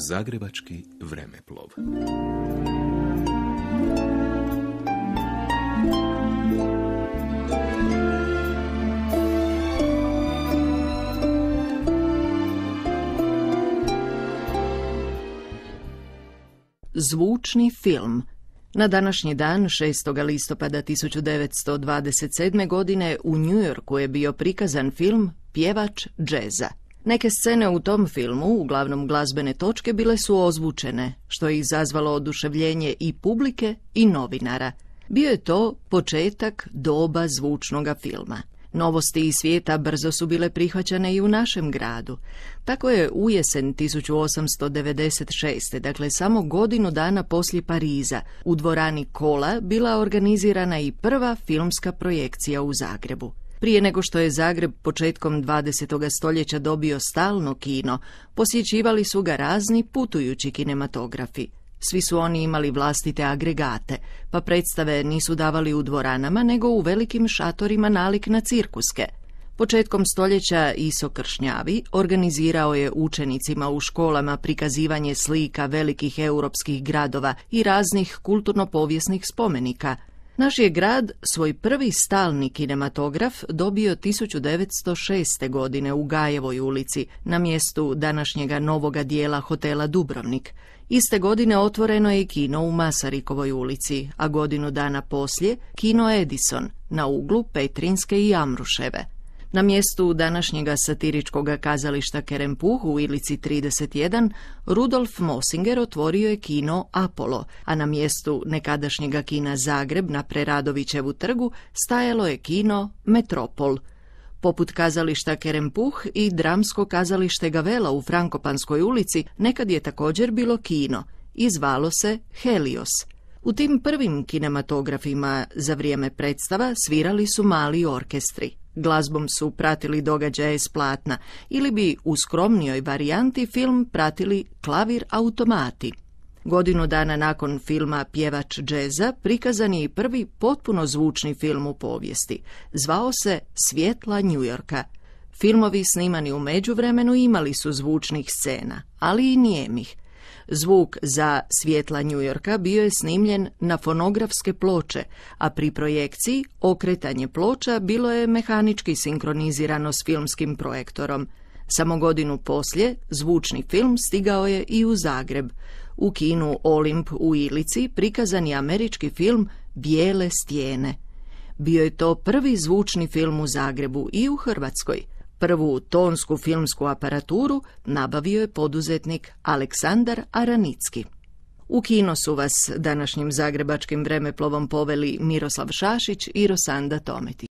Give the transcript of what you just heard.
Zagrebački vremeplov. Zvučni film. Na današnji dan, 6. listopada 1927. godine, u New Yorku je bio prikazan film Pjevač džeza. Neke scene u tom filmu, uglavnom glazbene točke, bile su ozvučene, što je izazvalo oduševljenje i publike i novinara. Bio je to početak doba zvučnoga filma. Novosti iz svijeta brzo su bile prihvaćane i u našem gradu. Tako je u jesen 1896. dakle samo godinu dana poslije Pariza, u dvorani Kola bila organizirana i prva filmska projekcija u Zagrebu. Prije nego što je Zagreb početkom 20. stoljeća dobio stalno kino, posjećivali su ga razni putujući kinematografi. Svi su oni imali vlastite agregate, pa predstave nisu davali u dvoranama, nego u velikim šatorima nalik na cirkuske. Početkom stoljeća Iso Kršnjavi organizirao je učenicima u školama prikazivanje slika velikih europskih gradova i raznih kulturno-povijesnih spomenika. Naš je grad svoj prvi stalni kinematograf dobio 1906. godine u Gajevoj ulici, na mjestu današnjega novoga dijela hotela Dubrovnik. Iste godine otvoreno je kino u Masarikovoj ulici, a godinu dana poslije kino Edison na uglu Petrinske i Amruševe. Na mjestu današnjega satiričkog kazališta Kerempuh u Ilici 31 Rudolf Mosinger otvorio je kino Apollo, a na mjestu nekadašnjega kina Zagreb na Preradovićevu trgu stajalo je kino Metropol. Poput kazališta Kerempuh i dramsko kazalište Gavela u Frankopanskoj ulici nekad je također bilo kino i zvalo se Helios. U tim prvim kinematografima za vrijeme predstava svirali su mali orkestri. Glazbom su pratili događaje s platna ili bi u skromnijoj varijanti film pratili klavir automati. Godinu dana nakon filma Pjevač džeza prikazan je i prvi potpuno zvučni film u povijesti. Zvao se Svjetla New Yorka. Filmovi snimani u međuvremenu imali su zvučnih scena, ali i nijemih. Zvuk za Svjetla New Yorka bio je snimljen na fonografske ploče, a pri projekciji okretanje ploča bilo je mehanički sinkronizirano s filmskim projektorom. Samo godinu poslije zvučni film stigao je i u Zagreb. U kinu Olimp u Ilici prikazan je američki film Bijele stijene. Bio je to prvi zvučni film u Zagrebu i u Hrvatskoj. Prvu tonsku filmsku aparaturu nabavio je poduzetnik Aleksandar Aranicki. U kino su vas današnjim zagrebačkim vremeplovom poveli Miroslav Šašić i Rosanda Tometić.